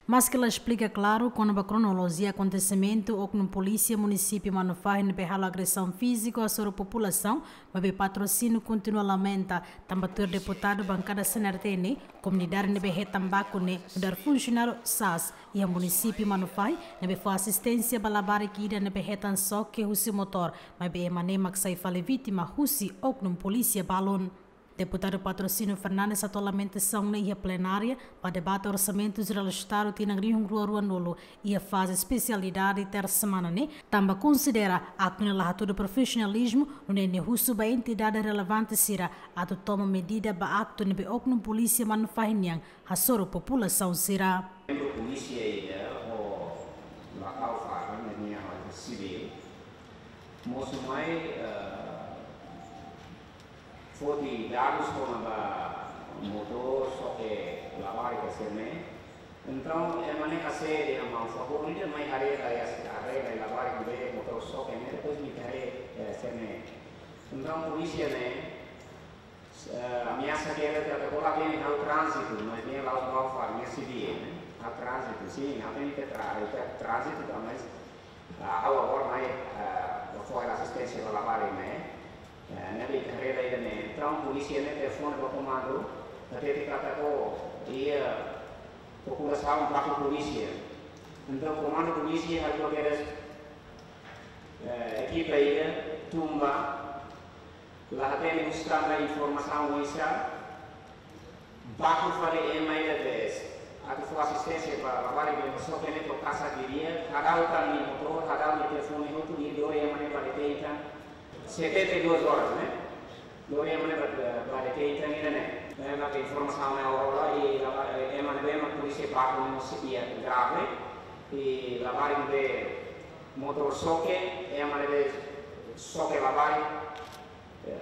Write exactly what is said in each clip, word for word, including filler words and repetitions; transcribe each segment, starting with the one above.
Maske la esplika klaru kona-ba kronolojia akontesimentu, oknum polísia munisípiu Manufahi ne'ebé halo agresaun fíziku hasoru populasaun, maibé Patrocínio kontinua lamenta, tanba tuir deputadu bankada C N R T ne'e, komunidade ne'ebé hetan baku ne'e nu'udar funsionáriu sas iha munisípiu Manufahi, ne'ebé fó asisténsia ba labarik ida ne'ebé hetan xoke husi motór, maibé ema ne'e mak sai fali vítima husi oknum polísia balun. Deputadu Patrocínio Fernandes hato'o lamentasaun ne'e iha plenária ba debate Orsamentu Jerál Estadu tinan rihun rua ruanulu iha faze espesialidade tersa semana ne'e, tanba konsidera aktu ne'e la hatudu profisionalizmu, nune'e nia husu ba entidade relevante sira atu toma medida ba aktu ne'ebé oknum polísia Manufahi nian hasoru populasaun sira. Membru polísia ida ho lokál fatin ne'e nia halo sivíl. Mosu mai, eh, foti dadus kona-ba motór xoke labarik sira-ne'e. Entaun, ema ne'e hase'e dehan maun, favór ida mai haree lai, haree lai labarik ne'ebé motór xoke ne'e, depois imi haree, eh, sira-ne'e. Entaun, polísia ne'e, eh, ameasa ke ela trata kola bem halo tránzitu, mas nia la'ós maun, far nia sivíl, ne'e. Halo tránzitu, sin, ha'u tenke tra-, tránzitu, mas ah, ha'u agora mai, ah, fó asisténsia ba labarik ne'e. Eh, ne'ebé haree lai ida-ne'e. Entaun, polísia ne'e telefone ba komandu, hatete katak iha populasaun baku polísia. Entaun, komandu polísia halo kedas, eh, ekipa ida tun ba, la hatene husi tanba informasaun oinsá, baku fali ema ida de'it, atu fó asisténsia ba labarik ne'ebé xoke ne'e to'o kasa di'ak, hadau tan nia motór, hadau nia telefone hotu, i lori ema ne'e ba detein tan, setenta e duas horas, ne'e? Lori ema ne'e ba, ba detein tan ida-ne'e. Ne'e mak informasaun ne'e agora, i laba-, ema ne'ebé mak polísia baku ne'e mós iha grave, i labarik ne'ebé motór xoke, ema ne'ebé xoke labarik, eh,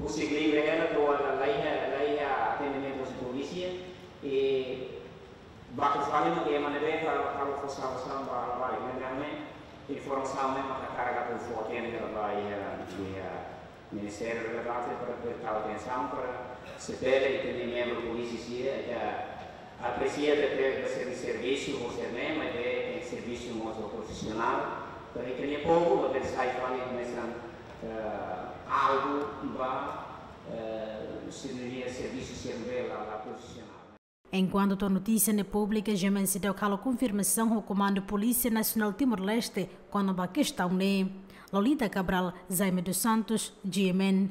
husik livre hela, to'o agora la iha, la iha atendimentu husi polísia, i baku fali mak ema ne'ebé halo, halo fó salvasaun ba labarik ne'e, ne'e informasaun ne'e mak hakarak atu fó atensaun ba iha, iha ministériu relevante para presta atensaun para se bele ita-nia membru polísia sira ita apresia tebes servisu ho sira-ne'e, maibé servisu mós profisionál. Para ita-nia povu, para sai fali mesan, eh, algu ba, eh, sira-nia servisu sira ne'ebé la, la profisionál. Enkuantu tuir notísia ne'e públika, G M N Seidauk halo konfirmasaun ho Komandu Polísia Nasionál Timor-Leste kona-ba kestaun ne'e. Lolita Cabral, Jaime dos Santos, G M N.